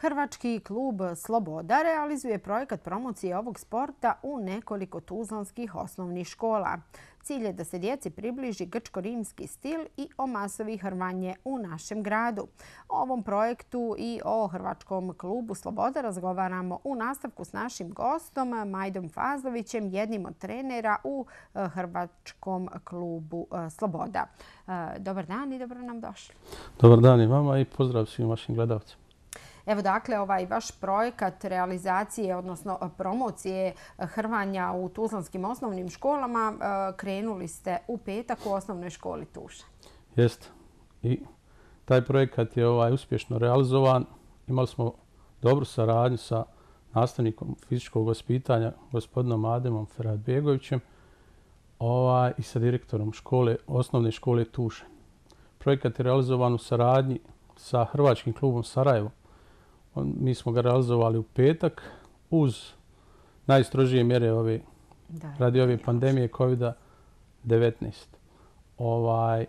Hrvački klub Sloboda realizuje projekat promocije ovog sporta u nekoliko tuzlanskih osnovnih škola. Cilj je da se djeci približi grčko-rimski stil i omasovi hrvanje u našem gradu. O ovom projektu i o Hrvačkom klubu Sloboda razgovaramo u nastavku s našim gostom Majdom Fazlovićem, jednim od trenera u Hrvačkom klubu Sloboda. Dobar dan i dobro nam došli. Dobar dan i vama i pozdrav svim vašim gledalcima. Evo dakle, ovaj vaš projekat realizacije, odnosno promocije hrvanja u tuzlanskim osnovnim školama krenuli ste u petak u osnovnoj školi Tuša. Jeste. I taj projekat je uspješno realizovan. Imali smo dobru saradnju sa nastavnikom fizičkog vaspitanja, gospodinom Ademom Feradbegovićem i sa direktorom osnovne škole Tuše. Projekat je realizovan u saradnji sa Hrvačkim klubom Sarajevo. Mi smo ga realizovali u petak uz najstrožije mjere radi ove pandemije COVID-19.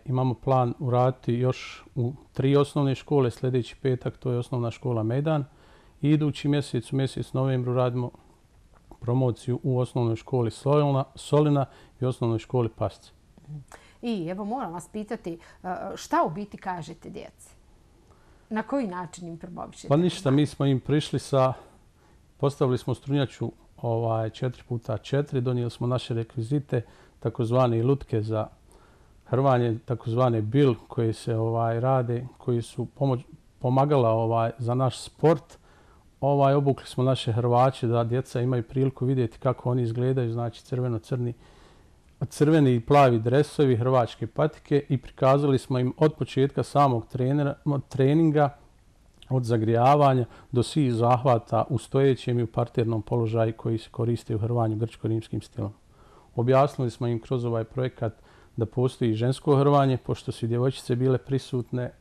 Imamo plan uraditi još u 3 osnovne škole. Sljedeći petak to je osnovna škola Mejdan. I idući mjesec, u mjesec novembru, radimo promociju u osnovnoj školi Solina i osnovnoj školi Pasce. I evo moram vas pitati šta u biti kažete djeci? Na koji način im promovišete? Pa ništa, mi smo im prišli postavili smo strunjaču 4x4, donijeli smo naše rekvizite, takozvane lutke za hrvanje, takozvane bil koje se rade, koji su pomagala za naš sport. Obukli smo naše hrvače da djeca imaju priliku vidjeti kako oni izgledaju, znači crveni i plavi dresovi, hrvačke patike, i prikazali smo im od početka samog treninga, od zagrijavanja do svih zahvata u stojećem i u parternom položaju koji se koriste u hrvanju grčko-rimskim stilom. Objasnili smo im kroz ovaj projekat da postoji žensko hrvanje, pošto su djevojčice bile prisutne.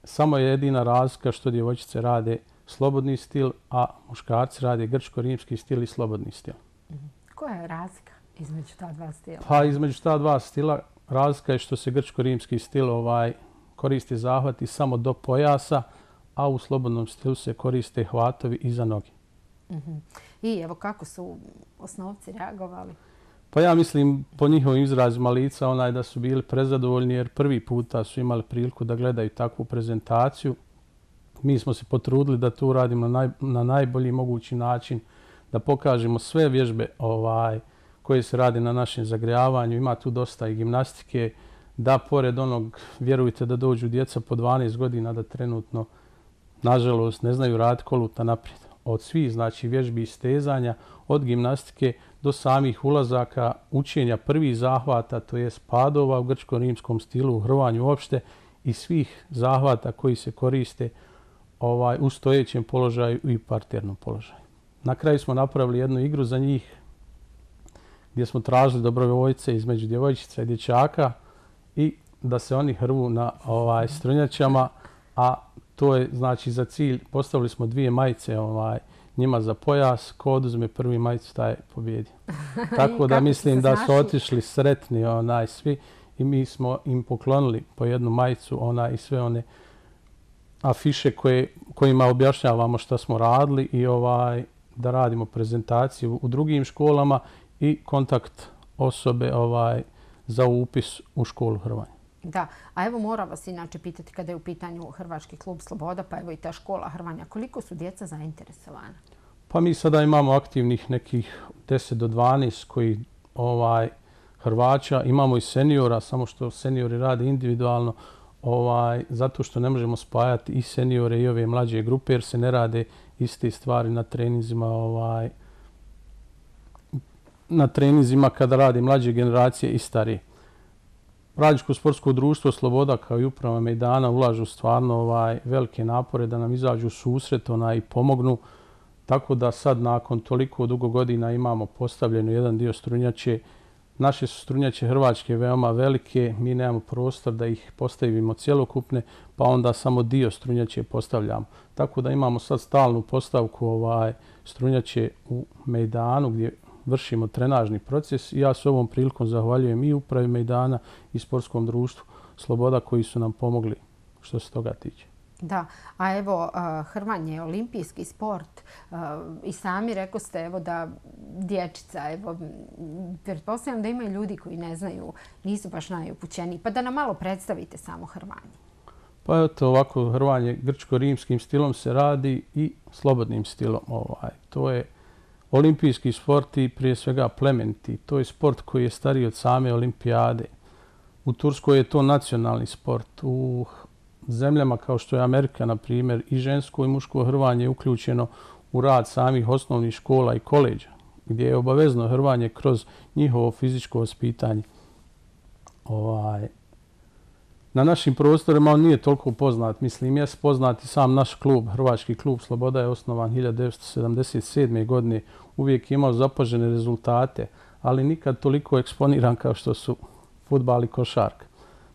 Samo je jedina razlika što djevojčice rade slobodni stil, a muškarci rade grčko-rimski stil i slobodni stil. Koja je razlika između ta dva stila? Pa između ta dva stila razlika je što se grčko-rimski stil koristi zahvati samo do pojasa, a u slobodnom stilu se koriste hvatovi iza noge. I evo kako su osnovci reagovali? Pa ja mislim po njihovim izrazima lica da su bili prezadovoljni jer prvi puta su imali priliku da gledaju takvu prezentaciju. Mi smo se potrudili da to uradimo na najbolji mogući način, da pokažemo sve vježbe koje se rade na našem zagrijavanju. Ima tu dosta i gimnastike, da pored onog, vjerujte da dođu djeca po 12 godina da trenutno, nažalost, ne znaju raditi koluta naprijed. Od svih, znači, vježbi i stezanja, od gimnastike do samih ulazaka, učenja prvih zahvata, to jest padova u grčko-rimskom stilu, u hrvanju uopšte, i svih zahvata koji se koriste u stojećem položaju i parternom položaju. Na kraju smo napravili jednu igru za njih gdje smo tražili dobrovoljce između djevojčica i dječaka i da se oni hrvu na strunjačama, a to je znači za cilj, postavili smo 2 majice njima za pojas, ko oduzme prvi majicu taj pobjedi. Tako da mislim da su otišli sretni svi i mi smo im poklonili po jednu majicu i sve one afiše kojima objašnjavamo šta smo radili i da radimo prezentaciju u drugim školama i kontakt osobe za upis u školu hrvanja. Da, a evo moram vas inače pitati kada je u pitanju Hrvački klub Sloboda, pa evo i ta škola hrvanja, koliko su djeca zainteresovana? Pa mi sada imamo aktivnih nekih 10 do 12 koji hrvača, imamo i seniora, samo što seniori rade individualno, zato što ne možemo spajati i seniore i ove mlađe grupe jer se ne rade iste stvari na treninzima kada rade mlađe generacije i starije. Radničko sportsko društvo Sloboda kao i uprava Mejdana ulažu stvarno velike napore da nam izađu u susret i pomognu. Tako da sad nakon toliko dugo godina imamo postavljeno jedan dio strunjače. Naše su strunjače hrvačke veoma velike, mi nemamo prostor da ih postavimo cjelokupne, pa onda samo dio strunjače postavljamo. Tako da imamo sad stalnu postavku strunjače u Mejdanu gdje vršimo trenažni proces i ja se ovom prilikom zahvaljujem i upravi Mejdana i sportskom društvu Sloboda koji su nam pomogli što se toga tiče. Da, a evo hrvanje je olimpijski sport i sami rekoste evo da dječica, evo pretpostavljam da ima i ljudi koji ne znaju, nisu baš najupućeniji, pa da nam malo predstavite samo hrvanje. Pa eto ovako, hrvanje grčko-rimskim stilom se radi i slobodnim stilom. To je olimpijski sport i prije svega plemeniti. To je sport koji je stariji od same olimpijade. U Turskoj je to nacionalni sport. U zemljama kao što je Amerika, na primjer, i žensko i muško hrvanje je uključeno u rad samih osnovnih škola i koleđa, gdje je obavezno hrvanje kroz njihovo fizičko vaspitanje. Na našim prostorima on nije toliko poznat. Mislim, je poznat i sam naš klub, Hrvački klub Sloboda je osnovan 1977. godine. Uvijek je imao zapažene rezultate, ali nikad toliko eksponiran kao što su fudbal i košarka.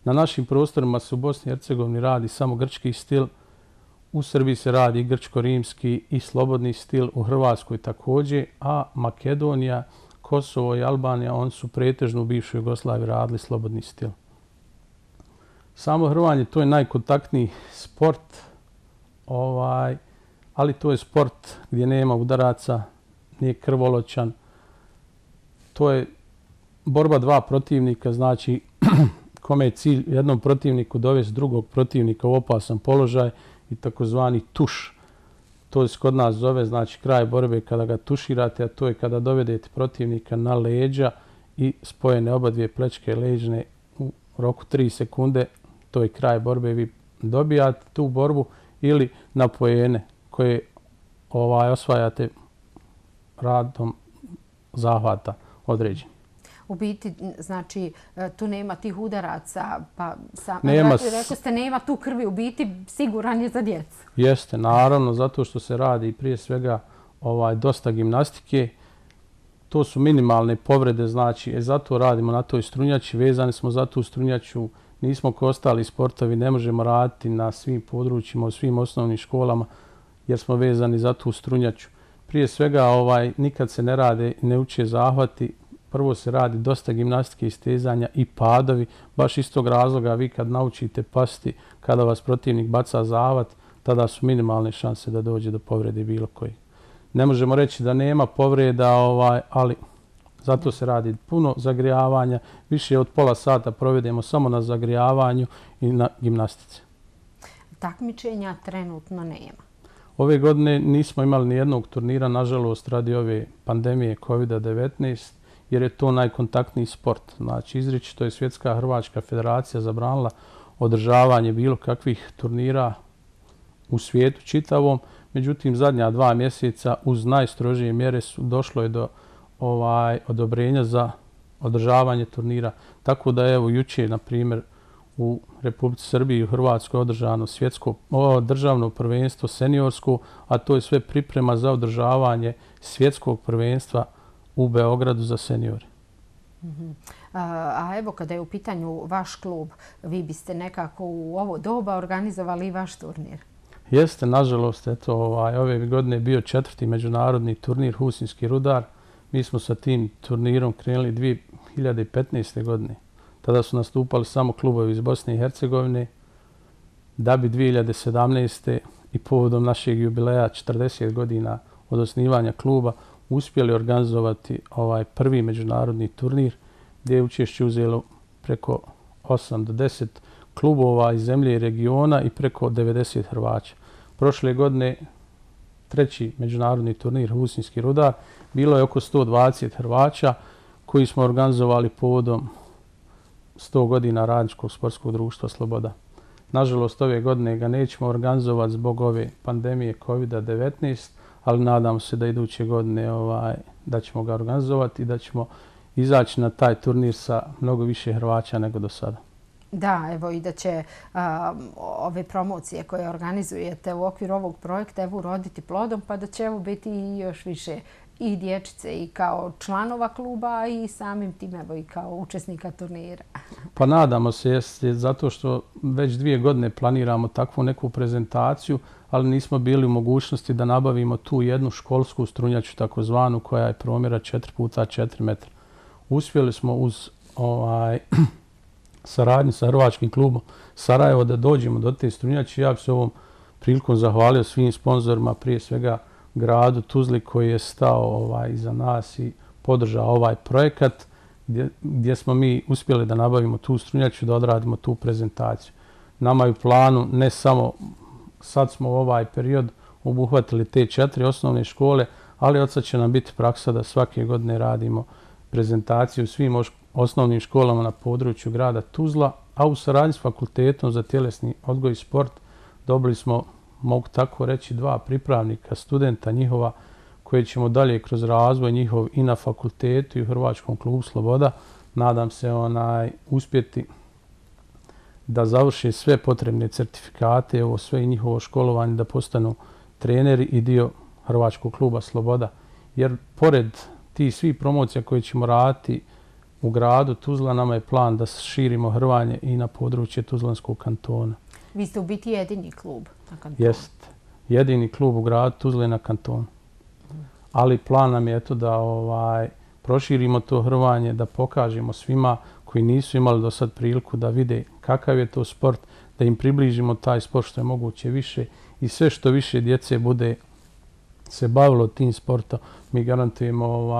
Na našim prostorima se u Bosni i Hercegovini radi samo grčki stil, u Srbiji se radi grčko-rimski i slobodni stil, u Hrvatskoj također, a Makedonija, Kosovo i Albanija, oni su pretežno u bivšoj Jugoslaviji radili slobodni stil. Samo hrvanje, to je najkontaktniji sport, ali to je sport gdje nema udaraca, nije krvoločan. To je borba dva protivnika, znači kome je cilj jednom protivniku dovesti drugog protivnika u opasan položaj i takozvani tuš. To se kod nas zove, znači kraj borbe kada ga tuširate, a to je kada dovedete protivnika na leđa i spojene oba dvije plečke leđne u roku 3 sekunde. To je kraj borbe, vi dobijate tu borbu ili na poene koje osvajate radom zahvata određeni. U biti, znači, tu nema tih udaraca, pa rekao ste nema tu krvi, u biti siguran je za djecu. Jeste, naravno, zato što se radi prije svega dosta gimnastike. To su minimalne povrede, znači, zato radimo na toj strunjači, vezani smo za tu strunjaču, nismo kao ostali sportovi, ne možemo raditi na svim područjima, u svim osnovnim školama, jer smo vezani za tu strunjaču. Prije svega, nikad se ne rade i ne uče zahvati. Prvo se radi dosta gimnastike, istezanja i padovi. Baš iz tog razloga vi kad naučite pasti, kada vas protivnik baca zahvat, tada su minimalne šanse da dođe do povrede bilo koji. Ne možemo reći da nema povreda, ali zato se radi puno zagrijavanja. Više od pola sata provedemo samo na zagrijavanju i na gimnastici. Takmičenja trenutno nema. Ove godine nismo imali ni jednog turnira, nažalost, radi ove pandemije COVID-19, jer je to najkontaktniji sport. Znači, izričito je Svjetska Hrvačka federacija zabranila održavanje bilo kakvih turnira u svijetu čitavom. Međutim, zadnja 2 mjeseca uz najstrožije mjere došlo je do odobrenja za održavanje turnira. Tako da evo jučer, na primjer, u Republici Srbiji i u Hrvatskoj održano državno prvenstvo seniorsko, a to je sve priprema za održavanje svjetskog prvenstva u Beogradu za seniore. A evo kada je u pitanju vaš klub, vi biste nekako u ovo doba organizovali i vaš turnir? Jeste, nažalost, ove godine je bio 4. međunarodni turnir Husinski Rudar. Mi smo sa tim turnirom krenuli 2015. godine. Tada su nastupali samo klubovi iz Bosne i Hercegovine, da bi 2017. i povodom našeg jubileja 40 godina od osnivanja kluba uspjeli organizovati prvi međunarodni turnir gdje je učešće uzelo preko 8 do 10 klubova iz zemlje i regiona i preko 90 Hrvaća. Prošle godine 3. međunarodni turnir Husinski Rudar bilo je oko 120 Hrvaća koji smo organizovali povodom 100 godina Radničkog sportskog društva Sloboda. Nažalost, ove godine ga nećemo organizovati zbog ove pandemije COVID-19, ali nadamo se da iduće godine da ćemo ga organizovati i da ćemo izaći na taj turnir sa mnogo više Hrvaća nego do sada. Da, evo i da će ove promocije koje organizujete u okviru ovog projekta evo uroditi plodom, pa da će evo biti i još više i dječice i kao članova kluba i samim tim evo i kao učesnika turnira. Pa nadamo se, zato što već 2 godine planiramo takvu neku prezentaciju, ali nismo bili u mogućnosti da nabavimo tu jednu školsku strunjaču takozvanu koja je promjera 4x4 metra. Uspjeli smo uz saradnju sa Hrvačkim klubom Sarajevo da dođemo do te strunjače. Ja bi se ovom prilikom zahvalio svim sponzorima, prije svega gradu Tuzli koji je stao iza nas i podržao ovaj projekat gdje smo mi uspjeli da nabavimo tu strunjaču, da odradimo tu prezentaciju. Nama je u planu ne samo, sad smo u ovaj period obuhvatili te 4 osnovne škole, ali od sad će nam biti praksa da svake godine radimo prezentaciju u svim osnovnim školama na području grada Tuzla, a u saradnji s Fakultetom za tjelesni odgoj i sport dobili smo, mogu tako reći, 2 pripravnika, studenta njihova, koje ćemo dalje kroz razvoj njihov i na fakultetu i u Hrvačkom klubu Sloboda, nadam se uspjeti da završe sve potrebne certifikate, ovo sve i njihovo školovanje, da postanu treneri i dio Hrvačkog kluba Sloboda. Jer pored tih svih promocija koje ćemo raditi u gradu Tuzla, nama je plan da širimo hrvanje i na područje Tuzlanskog kantona. Vi ste u biti jedini klub na kantonu. Jest. Jedini klub u gradu Tuzle na kantonu. Ali plan nam je da proširimo to hrvanje, da pokažemo svima koji nisu imali do sad priliku da vide kakav je to sport, da im približimo taj sport što je moguće više i sve što više djece bude se bavilo tim sportom, mi garantujemo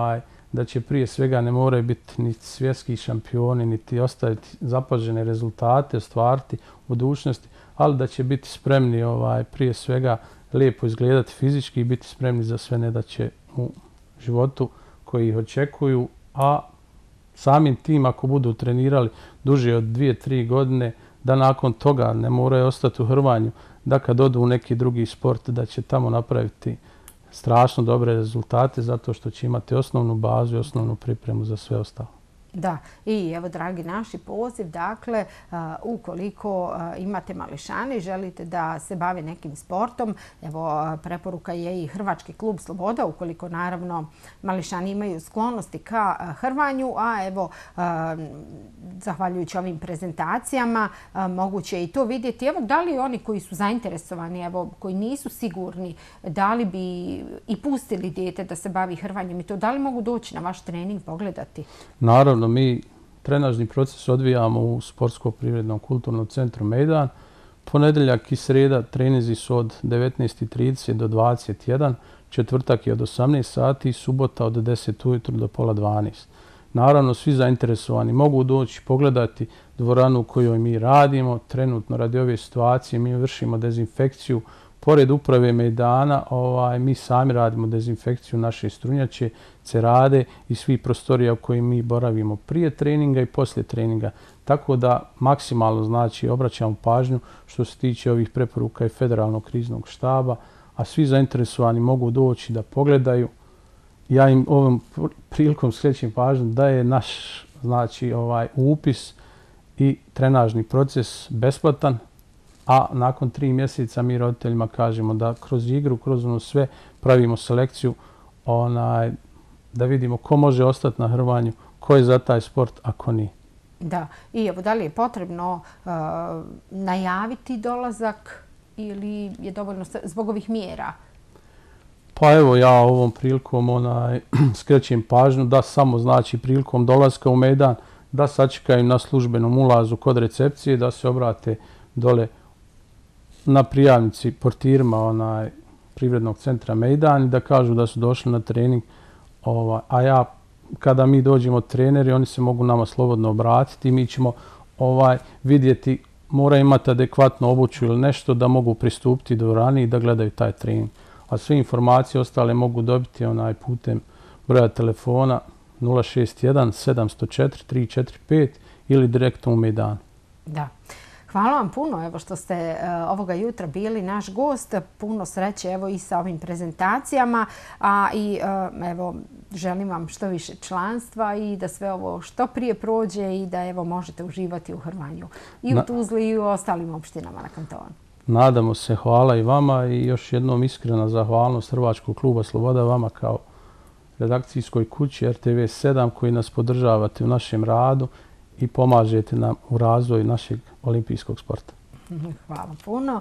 da će prije svega ne moraju biti ni svjetski šampioni, niti ostaviti zapažene rezultate, ostvariti u budućnosti, ali da će biti spremni prije svega lijepo izgledati fizički i biti spremni za sve nedaće u životu koji ih očekuju, a samim tim ako budu trenirali duže od 2-3 godine, da nakon toga ne moraju ostati u hrvanju, da kad odu u neki drugi sport da će tamo napraviti strašno dobre rezultate zato što će imati osnovnu bazu i osnovnu pripremu za sve ostalo. Da, i evo dragi naši poziv, dakle, ukoliko imate mališane i želite da se bave nekim sportom, evo preporuka je i Hrvački klub Sloboda, ukoliko naravno mališani imaju sklonosti ka hrvanju, a evo zahvaljujući ovim prezentacijama moguće je i to vidjeti. Evo da li oni koji su zainteresovani, evo koji nisu sigurni, da li bi i pustili dijete da se bavi hrvanjem i to, da li mogu doći na vaš trening pogledati? Naravno, mi trenažni proces odvijamo u Sportsko-privrednom kulturnom centru Mejdan. Ponedjeljak i srijeda treninzi su od 19:30 do 21, četvrtak je od 18 sati i subota od 10 ujutro do pola 12. Naravno, svi zainteresovani mogu doći pogledati dvoranu u kojoj mi radimo. Trenutno radi ove situacije mi vršimo dezinfekciju. Pored uprave Mejdana, mi sami radimo dezinfekciju naše strunjače, cerade i svih prostorija u kojim mi boravimo prije treninga i poslije treninga. Tako da maksimalno obraćamo pažnju što se tiče ovih preporuka i Federalnog kriznog štaba, a svi zainteresovani mogu doći da pogledaju. Ja im ovom prilikom skrećem pažnju da je naš upis i trenažni proces besplatan, a nakon 3 mjeseca mi roditeljima kažemo da kroz igru, kroz ono sve pravimo selekciju da vidimo ko može ostati na hrvanju, ko je za taj sport, a ko nije. Da, i evo da li je potrebno najaviti dolazak ili je dovoljno zbog ovih mjera? Pa evo ja ovom prilikom skrećem pažnju da samo prilikom dolaska u Mejdan da sačekaju na službenom ulazu kod recepcije, da se obrate dole na prijavnici portirima Privrednog centra Mejdan i da kažu da su došli na trening. A kada mi dođemo treneri, oni se mogu nama slobodno obratiti i mi ćemo vidjeti, mora imati adekvatnu obuću ili nešto da mogu pristupiti dvorani i da gledaju taj trening. A sve informacije ostale mogu dobiti putem broja telefona 061 704 345 ili direktno u Mejdanu. Da. Hvala vam puno evo što ste ovoga jutra bili naš gost. Puno sreće evo i sa ovim prezentacijama, a i evo želim vam što više članstva i da sve ovo što prije prođe i da evo možete uživati u hrvanju i u Tuzli i u ostalim opštinama na kantonu. Nadamo se, hvala i vama i još jednom iskrena zahvalnost Hrvačkog kluba Sloboda vama kao redakcijskoj kući RTV 7 koji nas podržavate u našem radu i pomažete nam u razvoju našeg olimpijskog sporta. Hvala puno.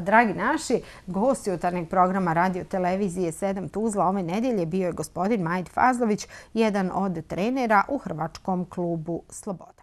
Dragi naši, gost jutarnjeg programa Radio Televizije 7 Tuzla ove nedjelje bio je gospodin Majid Fazlović, jedan od trenera u Hrvačkom klubu Sloboda.